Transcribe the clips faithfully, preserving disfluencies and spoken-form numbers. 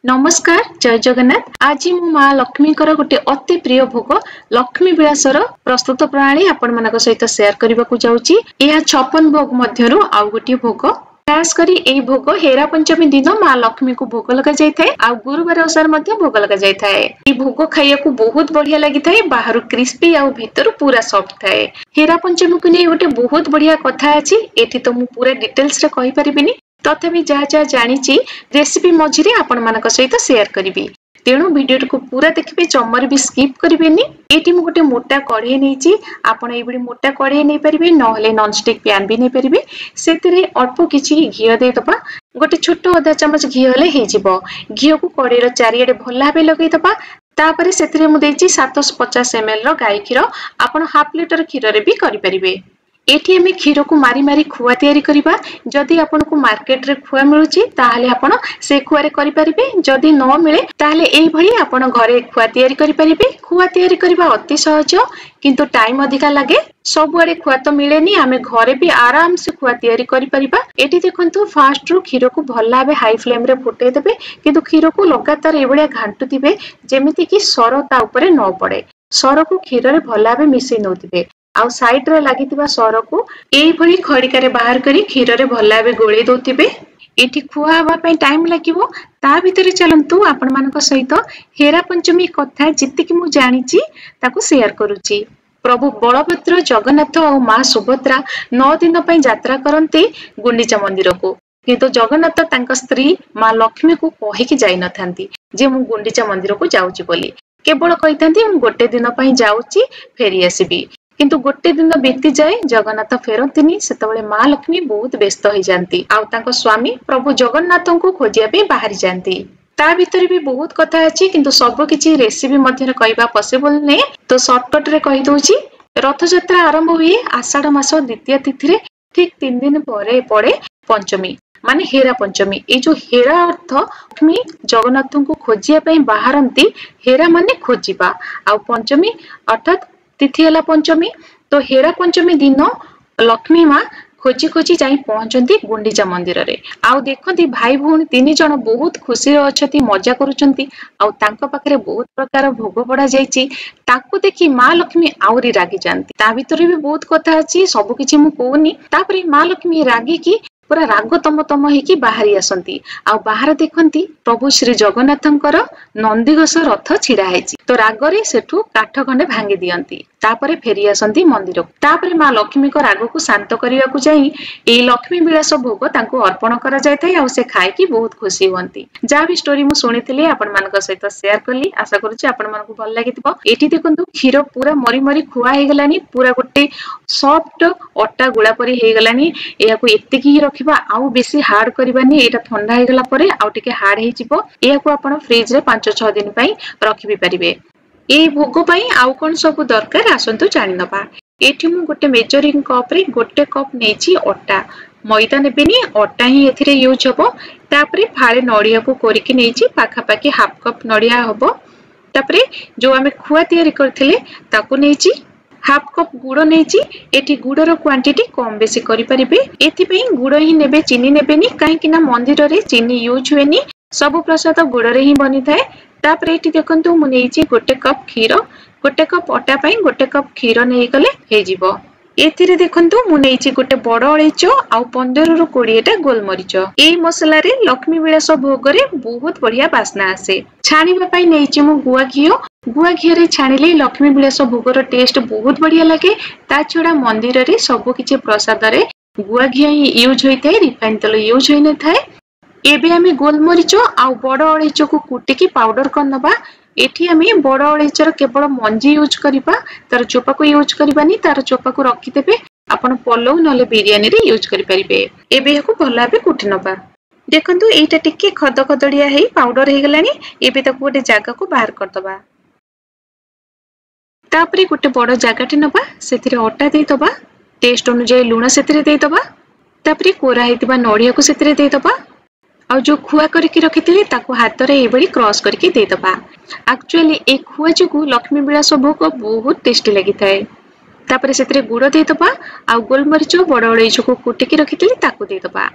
ନମସ୍କାର, ଜୟ ଜଗନ୍ନାଥ। ଆଜି ମୁଁ ମା ଲକ୍ଷ୍ମୀଙ୍କର ଗୋଟେ ଅତି ପ୍ରିୟ ଭୋଗ ଲକ୍ଷ୍ମୀ ବିଳାସର ପ୍ରସ୍ତୁତ ପ୍ରଣାଳୀ ଆପଣମାନଙ୍କ ସହିତ ସେୟାର କରିବାକୁ ଯାଉଛି। ଏହା ଛପନ ଭୋଗ ମଧ୍ୟରୁ ଆଉ ଗୋଟିଏ ଭୋଗ। ଖାସ କରି ଏହି ଭୋଗ ହେରା ପଞ୍ଚମୀ ଦିନ ମା ଲକ୍ଷ୍ମୀଙ୍କୁ ଭୋଗ ଲଗାଯାଇଥାଏ ଆଉ ଗୁରୁବାର ଓଷାରେ ମଧ୍ୟ ଭୋଗ ଲଗାଯାଇଥାଏ। ଏହି ଭୋଗ ଖାଇବାକୁ ବହୁତ ବଢିଆ ଲାଗିଥାଏ, ବାହାରୁ କ୍ରିସ୍ପି ଆଉ ଭିତରୁ ପୁରା ସଫ୍ଟ ଥାଏ। ହେରା ପଞ୍ଚମୀକୁ ନେଇ ଗୋଟେ ବହୁତ ବଢିଆ କଥା ଅଛି, ଏଠି ତ ମୁଁ ପୁରା ଡିଟେଲ୍ସରେ କହିପାରିବିନି, ତଥାପି ଯାହା ଯାହା ଜାଣିଛି ରେସିପି ମଝିରେ ଆପଣମାନଙ୍କ ସହିତ ସେୟାର କରିବି। ତେଣୁ ଭିଡିଓଟିକୁ ପୁରା ଦେଖିବେ, ଜମାରୁ ବି ସ୍କିପ୍ କରିବେନି। ଏଇଠି ମୁଁ ଗୋଟେ ମୋଟା କଢେଇ ନେଇଛି, ଆପଣ ଏଇଭଳି ମୋଟା କଢେଇ ନେଇପାରିବେ, ନହେଲେ ନନଷ୍ଟିକ୍ ପ୍ୟାନ୍ ବି ନେଇପାରିବେ। ସେଥିରେ ଅଳ୍ପ କିଛି ଘିଅ ଦେଇଦବା, ଗୋଟେ ଛୋଟ ଅଧା ଚାମଚ ଘିଅ ହେଲେ ହେଇଯିବ। ଘିଅକୁ କଢେଇର ଚାରିଆଡେ ଭଲ ଭାବେ ଲଗେଇଦବା। ତାପରେ ସେଥିରେ ମୁଁ ଦେଇଛି ସାତଶହ ପଚାଶ ଏମ ଏଲ ର ଗାଈ କ୍ଷୀର, ଆପଣ ହାଫ ଲିଟର କ୍ଷୀରରେ ବି କରିପାରିବେ। ଏଠି ଆମେ କ୍ଷୀରକୁ ମାରି ମାରି ଖୁଆ ତିଆରି କରିବା। ଯଦି ଆପଣଙ୍କୁ ମାର୍କେଟରେ ଖୁଆ ମିଳୁଛି ତାହେଲେ ଆପଣ ସେ ଖୁଆରେ କରିପାରିବେ, ଯଦି ନ ମିଳେ ତାହେଲେ ଏଇଭଳି ଆପଣ ଘରେ ଖୁଆ ତିଆରି କରିପାରିବେ। ଖୁଆ ତିଆରି କରିବା ଅତି ସହଜ, କିନ୍ତୁ ଟାଇମ ଅଧିକା ଲାଗେ। ସବୁଆଡେ ଖୁଆ ତ ମିଳେନି, ଆମେ ଘରେ ବି ଆରାମସେ ଖୁଆ ତିଆରି କରିପାରିବା। ଏଠି ଦେଖନ୍ତୁ, ଫାଷ୍ଟରୁ କ୍ଷୀରକୁ ଭଲ ଭାବେ ହାଇ ଫ୍ଲେମରେ ଫୁଟେଇ ଦେବେ, କିନ୍ତୁ କ୍ଷୀରକୁ ଲଗାତାର ଏଇଭଳିଆ ଘାଣ୍ଟୁଥିବେ ଯେମିତିକି ସର ତା ଉପରେ ନ ପଡେ। ସରକୁ କ୍ଷୀରରେ ଭଲ ଭାବେ ମିଶେଇ ନଉଥିବେ ଆଉ ସାଇଡରେ ଲାଗିଥିବା ସରକୁ ଏଇଭଳି ଖଡିକାରେ ବାହାର କରି କ୍ଷୀରରେ ଭଲ ଭାବେ ଗୋଳେଇ ଦଉଥିବେ। ଏଠି ଖୁଆ ହବା ପାଇଁ ଟାଇମ ଲାଗିବ, ତା ଭିତରେ ଚାଲନ୍ତୁ ଆପଣମାନଙ୍କ ସହିତ ହେରା ପଞ୍ଚମୀ କଥା ଯେତିକି ମୁଁ ଜାଣିଛି ତାକୁ ସେୟାର କରୁଛି। ପ୍ରଭୁ ବଳଭଦ୍ର, ଜଗନ୍ନାଥ ଆଉ ମା ସୁଭଦ୍ରା ନଅ ଦିନ ପାଇଁ ଯାତ୍ରା କରନ୍ତି ଗୁଣ୍ଡିଚା ମନ୍ଦିରକୁ, କିନ୍ତୁ ଜଗନ୍ନାଥ ତାଙ୍କ ସ୍ତ୍ରୀ ମା ଲକ୍ଷ୍ମୀକୁ କହିକି ଯାଇନଥାନ୍ତି ଯେ ମୁଁ ଗୁଣ୍ଡିଚା ମନ୍ଦିରକୁ ଯାଉଛି ବୋଲି। କେବଳ କହିଥାନ୍ତି ମୁଁ ଗୋଟେ ଦିନ ପାଇଁ ଯାଉଛି, ଫେରି ଆସିବି। କିନ୍ତୁ ଗୋଟେ ଦିନ ବିତିଯାଏ, ଜଗନ୍ନାଥ ଫେରନ୍ତିନି। ସେତେବେଳେ ମା ଲକ୍ଷ୍ମୀ ବହୁତ ବ୍ୟସ୍ତ ହେଇଯାନ୍ତି ଆଉ ତାଙ୍କ ସ୍ୱାମୀ ପ୍ରଭୁ ଜଗନ୍ନାଥଙ୍କୁ ଖୋଜିବା ପାଇଁ ବାହାରି ଯାଆନ୍ତି। ତା ଭିତରେ ବି ବହୁତ କଥା ଅଛି, କିନ୍ତୁ ସବୁ କିଛି ରେସିପି ମଧ୍ୟରେ କହିବା ପସିବଲ ନୁହେଁ, ତ ସର୍ଟକଟ ରେ କହିଦଉଛି। ରଥଯାତ୍ରା ଆରମ୍ଭ ହୁଏ ଆଷାଢ ମାସ ଦ୍ୱିତୀୟ ତିଥିରେ, ଠିକ ତିନି ଦିନ ପରେ ପଡେ ପଞ୍ଚମୀ, ମାନେ ହେରା ପଞ୍ଚମୀ। ଏଇ ଯୋଉ ହେରା ଅର୍ଥ ଲକ୍ଷ୍ମୀ ଜଗନ୍ନାଥଙ୍କୁ ଖୋଜିବା ପାଇଁ ବାହାରନ୍ତି, ହେରା ମାନେ ଖୋଜିବା ଆଉ ପଞ୍ଚମୀ ଅର୍ଥାତ୍ ତିଥି ହେଲା ପଞ୍ଚମୀ। ତ ହେରା ପଞ୍ଚମୀ ଦିନ ଲକ୍ଷ୍ମୀ ମା ଖୋଜି ଖୋଜି ଯାଇ ପହଞ୍ଚନ୍ତି ଗୁଣ୍ଡିଚା ମନ୍ଦିରରେ ଆଉ ଦେଖନ୍ତି ଭାଇ ଭଉଣୀ ତିନି ଜଣ ବହୁତ ଖୁସିରେ ଅଛନ୍ତି, ମଜା କରୁଛନ୍ତି ଆଉ ତାଙ୍କ ପାଖରେ ବହୁତ ପ୍ରକାର ଭୋଗ ବଢା ଯାଇଛି। ତାକୁ ଦେଖି ମା ଲକ୍ଷ୍ମୀ ଆହୁରି ରାଗି ଯାଆନ୍ତି। ତା ଭିତରେ ବି ବହୁତ କଥା ଅଛି, ସବୁ କିଛି ମୁଁ କହୁନି। ତାପରେ ମା ଲକ୍ଷ୍ମୀ ରାଗିକି ପୁରା ରାଗ ତମ ତମ ହେଇକି ବାହାରି ଆସନ୍ତି ଆଉ ବାହାରେ ଦେଖନ୍ତି ପ୍ରଭୁ ଶ୍ରୀ ଜଗନ୍ନାଥଙ୍କର ନନ୍ଦିଘୋଷ ରଥ ଛିଡା ହେଇଛି। ତ ରାଗରେ ସେଠୁ କାଠ ଖଣ୍ଡେ ଭାଙ୍ଗି ଦିଅନ୍ତି, ତାପରେ ଫେରି ଆସନ୍ତି ମନ୍ଦିରକୁ। ତାପରେ ମା ଲକ୍ଷ୍ମୀଙ୍କ ରାଗକୁ ଶାନ୍ତ କରିବାକୁ ଯାଇ ଏଇ ଲକ୍ଷ୍ମୀ ବିଳାସ ଭୋଗ ତାଙ୍କୁ ଅର୍ପଣ କରାଯାଇଥାଏ ଆଉ ସେ ଖାଇକି ବହୁତ ଖୁସି ହୁଅନ୍ତି। ଯାହା ବି ଷ୍ଟୋରି ମୁଁ ଶୁଣିଥିଲି ଆପଣମାନଙ୍କ ସହିତ ସେୟାର କଲି, ଆଶା କରୁଛି ଆପଣମାନଙ୍କୁ ଭଲ ଲାଗିଥିବ। ଏଠି ଦେଖନ୍ତୁ, କ୍ଷୀର ପୁରା ମରି ମରି ଖୁଆ ହେଇଗଲାଣି, ପୁରା ଗୋଟେ ସଫ୍ଟ ଅଟା ଗୁଳା ପରି ହେଇଗଲାଣି। ଏହାକୁ ଏତିକି ହିଁ ରଖିବା, ଆଉ ବେଶୀ ହାର୍ଡ କରିବାନି। ଏଇଟା ଥଣ୍ଡା ହେଇଗଲା ପରେ ଆଉ ଟିକେ ହାର୍ଡ ହେଇଯିବ। ଏହାକୁ ଆପଣ ଫ୍ରିଜରେ ପାଞ୍ଚ ଛଅ ଦିନ ପାଇଁ ରଖି ବି ପାରିବେ। ଏଇ ଭୋଗ ପାଇଁ ଆଉ କଣ ସବୁ ଦରକାର ଆସନ୍ତୁ ଜାଣିନବା। ଏଠି ମୁଁ ଗୋଟେ ମେଜରିଂ କପରେ ଗୋଟେ କପ୍ ନେଇଛି ଅଟା, ମଇଦା ନେବେନି, ଅଟା ହିଁ ଏଥିରେ ୟୁଜ୍ ହବ। ତାପରେ ଫାଳେ ନଡିଆକୁ କୋରିକି ନେଇଛି, ପାଖାପାଖି ହାଫ କପ୍ ନଡିଆ ହବ। ତାପରେ ଯୋଉ ଆମେ ଖୁଆ ତିଆରି କରିଥିଲେ ତାକୁ ନେଇଛି, ହାଫ କପ୍ ଗୁଡ ନେଇଛି। ଏଠି ଗୁଡର କ୍ୱାଣ୍ଟିଟି କମ ବେଶୀ କରିପାରିବେ। ଏଥିପାଇଁ ଗୁଡ ହିଁ ନେବେ, ଚିନି ନେବେନି, କାହିଁକି ନା ମନ୍ଦିରରେ ଚିନି ୟୁଜ୍ ହୁଏନି, ସବୁ ପ୍ରସାଦ ଗୁଡରେ ହିଁ ବନିଥାଏ। ତାପରେ ଏଠି ଦେଖନ୍ତୁ, ମୁଁ ନେଇଛି ଗୋଟେ କପ୍ କ୍ଷୀର। ଗୋଟେ କପ୍ ଅଟା ପାଇଁ ଗୋଟେ କପ୍ କ୍ଷୀର ନେଇଗଲେ ହେଇଯିବ। ଏଥିରେ ଦେଖନ୍ତୁ, ମୁଁ ନେଇଛି ଗୋଟେ ବଡ ଅଳେଇଚ ଆଉ ପନ୍ଦରରୁ କୋଡିଏଟା ଗୋଲମରିଚ। ଏଇ ମସଲାରେ ଲକ୍ଷ୍ମୀ ବିଳାସ ଭୋଗରେ ବହୁତ ବଢିଆ ବାସ୍ନା ଆସେ। ଛାଣିବା ପାଇଁ ନେଇଛି ମୁଁ ଗୁଆ ଘିଅ। ଗୁଆ ଘିଅରେ ଛାଣିଲେ ଲକ୍ଷ୍ମୀ ବିଳାସ ଭୋଗର ଟେଷ୍ଟ ବହୁତ ବଢିଆ ଲାଗେ। ତା ଛଡା ମନ୍ଦିରରେ ସବୁ କିଛି ପ୍ରସାଦରେ ଗୁଆ ଘିଅ ହିଁ ୟୁଜ୍ ହୋଇଥାଏ, ରିଫାଇନ ତେଲ ୟୁଜ୍ ହୋଇନଥାଏ। ଏବେ ଆମେ ଗୋଲମରିଚ ଆଉ ବଡ ଅଳେଇଚକୁ କୁଟିକି ପାଉଡର କରିନବା। ଏଠି ଆମେ ବଡ ଅଳେଇଚର କେବଳ ମଞ୍ଜି ୟୁଜ୍ କରିବା, ତାର ଚୋପାକୁ ୟୁଜ୍ କରିବାନି। ତାର ଚୋପାକୁ ରଖିଦେବେ, ଆପଣ ପଲଉ ନହେଲେ ବିରିୟାନୀରେ ୟୁଜ୍ କରିପାରିବେ। ଏବେ ଏହାକୁ ଭଲ ଭାବେ କୁଟି ନବା। ଦେଖନ୍ତୁ, ଏଇଟା ଟିକେ ଖଦ ଖଦଡିଆ ହେଇ ପାଉଡର ହେଇଗଲାଣି। ଏବେ ତାକୁ ଗୋଟେ ଜାଗାକୁ ବାହାର କରିଦବା। ତାପରେ ଗୋଟେ ବଡ ଜାଗାଟେ ନବା, ସେଥିରେ ଅଟା ଦେଇଦବା, ଟେଷ୍ଟ ଅନୁଯାୟୀ ଲୁଣ ସେଥିରେ ଦେଇଦବା, ତାପରେ କୋରା ହେଇଥିବା ନଡିଆକୁ ସେଥିରେ ଦେଇଦବା ଆଉ ଯୋଉ ଖୁଆ କରିକି ରଖିଥିଲେ ତାକୁ ହାତରେ ଏଇଭଳି କ୍ରସ୍ କରିକି ଦେଇଦବା। ଆକ୍ଚୁଆଲି ଏଇ ଖୁଆ ଯୋଗୁ ଲକ୍ଷ୍ମୀ ବିଳାସ ଭୋଗ ବହୁତ ଟେଷ୍ଟି ଲାଗିଥାଏ। ତାପରେ ସେଥିରେ ଗୁଡ ଦେଇଦବା ଆଉ ଗୋଲମରିଚ, ବଡ ଅଳେଇଚକୁ କୁଟିକି ରଖିଥିଲେ ତାକୁ ଦେଇଦବା।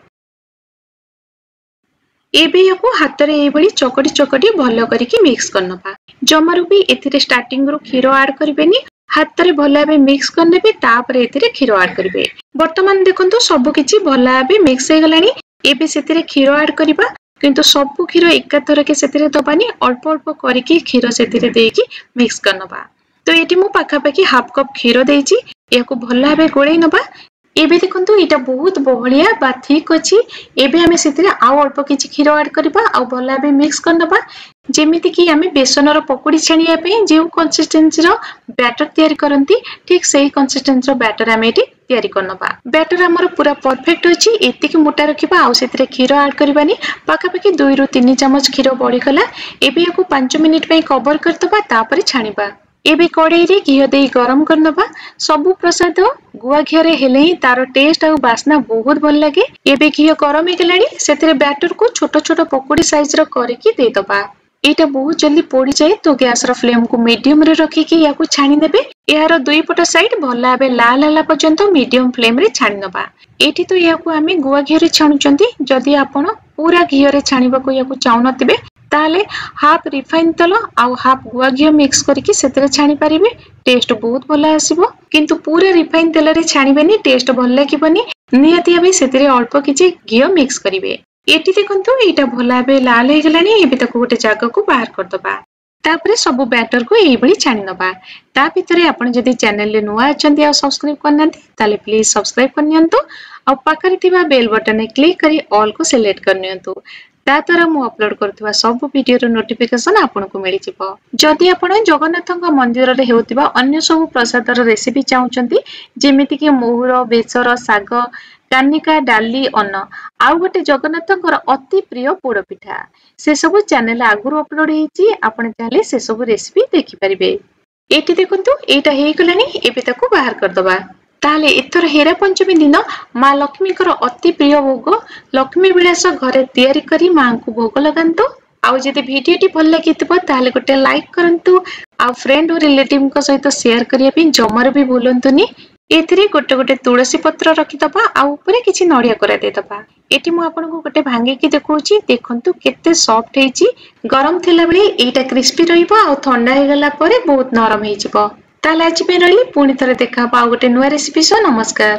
ଏବେ ୟାକୁ ହାତରେ ଏଇଭଳି ଚକଟି ଚକଟି ଭଲ କରିକି ମିକ୍ସ କରିନେବା। ଜମାରୁ ବି ଏଥିରେ ଷ୍ଟାର୍ଟିଂରୁ କ୍ଷୀର ଆଡ୍ କରିବେନି। ହାତରେ ଭଲ ଭାବେ ମିକ୍ସ କରିନେବେ, ତାପରେ ଏଥିରେ କ୍ଷୀର ଆଡ୍ କରିବେ। ବର୍ତ୍ତମାନ ଦେଖନ୍ତୁ, ସବୁ କିଛି ଭଲ ଭାବେ ମିକ୍ସ ହେଇଗଲାଣି। ଏବେ ସେଥିରେ କ୍ଷୀର ଆଡ୍ କରିବା, କିନ୍ତୁ ସବୁ କ୍ଷୀର ଏକାଥରକେ ସେଥିରେ ଦବାନି। ଅଳ୍ପ ଅଳ୍ପ କରିକି କ୍ଷୀର ସେଥିରେ ଦେଇକି ମିକ୍ସ କରିନେବା। ତ ଏଠି ମୁଁ ପାଖାପାଖି ହାଫ୍ କପ୍ କ୍ଷୀର ଦେଇଛି। ଏହାକୁ ଭଲ ଭାବେ ଗୋଳେଇ ନେବା। ଏବେ ଦେଖନ୍ତୁ, ଏଇଟା ବହୁତ ବହଳିଆ ବା ଥିକ୍ ଅଛି। ଏବେ ଆମେ ସେଥିରେ ଆଉ ଅଳ୍ପ କିଛି କ୍ଷୀର ଆଡ୍ କରିବା ଆଉ ଭଲ ଭାବେ ମିକ୍ସ କରିନେବା। ଯେମିତିକି ଆମେ ବେସନର ପକୁଡ଼ି ଛାଣିବା ପାଇଁ ଯେଉଁ କନସିଷ୍ଟେନ୍ସିର ବ୍ୟାଟର ତିଆରି କରନ୍ତି, ଠିକ୍ ସେଇ କନସିଷ୍ଟେନ୍ସିର ବ୍ୟାଟର ଆମେ ଏଠି ତିଆରି କରିନେବା। ବ୍ୟାଟର ଆମର ପୁରା ପରଫେକ୍ଟ ଅଛି। ଏତିକି ମୋଟା ରଖିବା, ଆଉ ସେଥିରେ କ୍ଷୀର ଆଡ୍ କରିବାନି। ପାଖାପାଖି ଦୁଇରୁ ତିନି ଚାମଚ କ୍ଷୀର ବଳିଗଲା। ଏବେ ୟାକୁ ପାଞ୍ଚ ମିନିଟ୍ ପାଇଁ କଭର କରିଦେବା, ତାପରେ ଛାଣିବା। ଏବେ କଡ଼େଇରେ ଘିଅ ଦେଇ ଗରମ କରିନେବା। ସବୁ ପ୍ରସାଦ ଗୁଆ ଘିଅରେ ହେଲେ ହିଁ ତାର ଟେଷ୍ଟ ଆଉ ବାସ୍ନା ବହୁତ ଭଲ ଲାଗେ। ଏବେ ଘିଅ ଗରମ ହେଇଗଲାଣି। ସେଥିରେ ବ୍ୟାଟରକୁ ଛୋଟ ଛୋଟ ପକୁଡ଼ି ସାଇଜର କରିକି ଦେଇଦବା। ଏଇଟା ବହୁତ ଜଲ୍ଦି ପୋଡ଼ିଯାଏ, ତ ଗ୍ୟାସର ଫ୍ଲେମକୁ ମିଡିୟମରେ ରଖିକି ୟାକୁ ଛାଣିନେବେ। ଏହାର ଦୁଇ ପଟ ସାଇଡ୍ ଭଲ ଭାବେ ଲାଲ ହେଲା ପର୍ଯ୍ୟନ୍ତ ମିଡିୟମ ଫ୍ଲେମରେ ଛାଣି ନେବା। ଏଇଠି ତ ଏହାକୁ ଆମେ ଗୁଆ ଘିଅରେ ଛାଣୁଛନ୍ତି। ଯଦି ଆପଣ ପୁରା ଘିଅରେ ଛାଣିବାକୁ ୟାକୁ ଚାହୁଁନଥିବେ, ତାହେଲେ ହାଫ୍ ରିଫାଇନ୍ ତେଲ ଆଉ ହାଫ୍ ଗୁଆ ଘିଅ ମିକ୍ସ କରିକି ସେଥିରେ ଛାଣି ପାରିବେ। ଟେଷ୍ଟ ବହୁତ ଭଲ ଆସିବ। କିନ୍ତୁ ପୁରା ରିଫାଇନ୍ ତେଲରେ ଛାଣିବେନି, ଟେଷ୍ଟ ଭଲ ଲାଗିବନି। ନିହାତି ଭାବେ ସେଥିରେ ଅଳ୍ପ କିଛି ଘିଅ ମିକ୍ସ କରିବେ। ଏଠି ଦେଖନ୍ତୁ, ଏଇଟା ଭଲ ଭାବେ ଲାଲ ହେଇଗଲାଣି। ଏବେ ତାକୁ ଗୋଟେ ଜାଗାକୁ ବାହାର କରିଦବା। ତାପରେ ସବୁ ବ୍ୟାଟରକୁ ଏଇଭଳି ଛାଣି ନେବା। ତା ଭିତରେ ଆପଣ ଯଦି ଚ୍ୟାନେଲରେ ନୂଆ ଅଛନ୍ତି ଆଉ ସବସ୍କ୍ରାଇବ କରିନାହାନ୍ତି, ତାହେଲେ ପ୍ଲିଜ ସବସ୍କ୍ରାଇବ କରିନିଅନ୍ତୁ ଆଉ ପାଖରେ ଥିବା ବେଲ୍ ବଟନରେ କ୍ଲିକ୍ କରି ଅଲକୁ ସିଲେକ୍ଟ କରିନିଅନ୍ତୁ। ତା ଦ୍ୱାରା ମୁଁ ଅପଲୋଡ କରୁଥିବା ସବୁ ଭିଡିଓର ନୋଟିଫିକେସନ ଆପଣଙ୍କୁ ମିଳିଯିବ। ଯଦି ଆପଣ ଜଗନ୍ନାଥଙ୍କ ମନ୍ଦିରରେ ହେଉଥିବା ଅନ୍ୟ ସବୁ ପ୍ରସାଦର ରେସିପି ଚାହୁଁଛନ୍ତି, ଯେମିତିକି ମହୁର, ବେସର, ଶାଗ, କାନିକା, ଡାଲି, ଅନ୍ନ ଆଉ ଗୋଟେ ଜଗନ୍ନାଥଙ୍କର ଅତି ପ୍ରିୟ ପୋଡପିଠା, ସେସବୁ ଚ୍ୟାନେଲ ଆଗରୁ ଅପଲୋଡ ହେଇଛି। ଆପଣ ଚାହିଁଲେ ସେସବୁ ରେସିପି ଦେଖିପାରିବେ। ଏଇଠି ଦେଖନ୍ତୁ, ଏଇଟା ହେଇଗଲାଣି। ଏବେ ତାକୁ ବାହାର କରିଦବା। ତାହେଲେ ଏଥର ହେରା ପଞ୍ଚମୀ ଦିନ ମା ଲକ୍ଷ୍ମୀଙ୍କର ଅତି ପ୍ରିୟ ଭୋଗ ଲକ୍ଷ୍ମୀ ବିଳାସ ଘରେ ତିଆରି କରି ମାଙ୍କୁ ଭୋଗ ଲଗାନ୍ତୁ। ଆଉ ଯଦି ଭିଡିଓଟି ଭଲ ଲାଗିଥିବ, ତାହେଲେ ଗୋଟେ ଲାଇକ୍ କରନ୍ତୁ ଆଉ ଫ୍ରେଣ୍ଡ ଓ ରିଲେଟିଭଙ୍କ ସହିତ ସେୟାର କରିବା ପାଇଁ ଜମାରୁ ବି ଭୁଲନ୍ତୁନି। ଏଥିରେ ଗୋଟେ ଗୋଟେ ତୁଳସୀ ପତ୍ର ରଖିଦବା ଆଉ ଉପରେ କିଛି ନଡିଆ କୋରା ଦେଇଦବା। ଏଠି ମୁଁ ଆପଣଙ୍କୁ ଗୋଟେ ଭାଙ୍ଗିକି ଦେଖଉଛି। ଦେଖନ୍ତୁ କେତେ ସଫ୍ଟ ହେଇଛି। ଗରମ ଥିଲାବେଳେ ଏଇଟା କ୍ରିସ୍ପି ରହିବ ଆଉ ଥଣ୍ଡା ହେଇଗଲା ପରେ ବହୁତ ନରମ ହେଇଯିବ। ତାହେଲେ ଆଜି ପାଇଁ ରହିଲି। ପୁଣି ଥରେ ଦେଖା ହବ ଆଉ ଗୋଟେ ନୂଆ ରେସିପି ସହ। ନମସ୍କାର।